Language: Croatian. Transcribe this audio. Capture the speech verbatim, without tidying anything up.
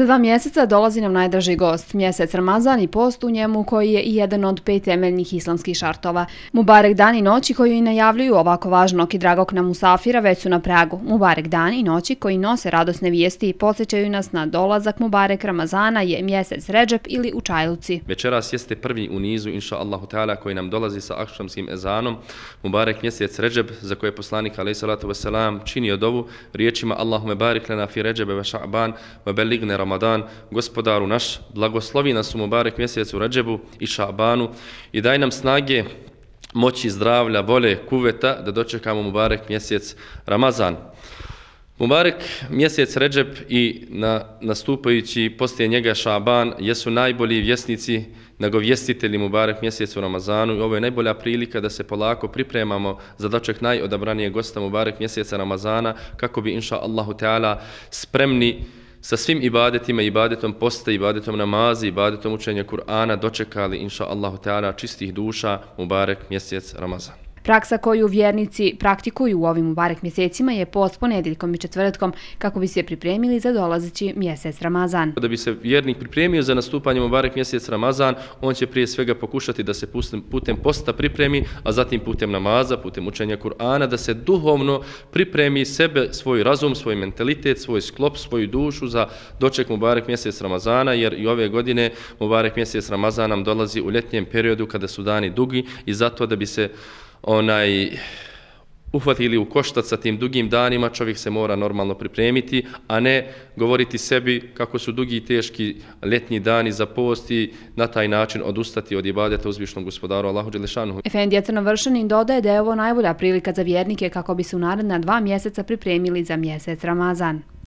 Za dva mjeseca dolazi nam najdraži gost, mjesec Ramazan i post u njemu koji je i jedan od pet temeljnih islamskih šartova. Mubarek dan i noći koji i najavljuju ovako važnog i dragog nam musafira već su na pragu. Mubarek dan i noći koji nose radosne vijesti i podsjećaju nas na dolazak Mubarek Ramazana je mjesec Redžep ili Učajluci. Večeras jeste prvi u nizu, inša Allahu Teala, koji nam dolazi sa akšamskim ezanom. Mubarek mjesec Redžep, za koje je poslanik alejhi salatu vesselam činio dovu riječima Allahume barik lana fi Redžebe ve Ša'ban ve beligne Ramadan, gospodaru naš, blagoslovi nas u Mubarek mjesecu Redžebu i Ša'banu i daj nam snage, moći, zdravlja, vole, kuveta da dočekamo Mubarek mjesec Ramazan. Mubarek mjesec Redžep i na, nastupajući poslije njega Ša'ban jesu najbolji vjesnici, nagovjestitelji Mubarek mjesecu Ramazanu i ovo je najbolja prilika da se polako pripremamo za doček najodabranijeg gosta Mubarek mjeseca Ramazana kako bi inša Allahu Teala spremni sa svim ibadetima, ibadetom posta, ibadetom namazi, ibadetom učenja Kur'ana dočekali inša Allahu Teala čistih duša Mubarek mjesec Ramazan. Praksa koju vjernici praktikuju u ovim Mubarek mjesecima je post ponedjeljkom i četvrtkom kako bi se pripremili za dolazeći mjesec Ramazan. Da bi se vjernik pripremio za nastupanje Mubarek mjesec Ramazan, on će prije svega pokušati da se putem posta pripremi, a zatim putem namaza, putem učenja Kur'ana, da se duhovno pripremi sebe, svoj razum, svoj mentalitet, svoj sklop, svoju dušu za doček Mubarek mjesec Ramazana, jer i ove godine Mubarek mjesec Ramazan nam dolazi u ljetnjem periodu kada su dani dugi i zato da bi se onaj uhvatili u koštac sa tim dugim danima, čovjek se mora normalno pripremiti, a ne govoriti sebi kako su dugi i teški ljetni dani za post i na taj način odustati od ibadeta uzvišnog gospodaru Allahu dželešanuhu. Efendija Crnovršanin dodaje da je ovo najbolja prilika za vjernike kako bi se u naredna dva mjeseca pripremili za mjesec Ramazan.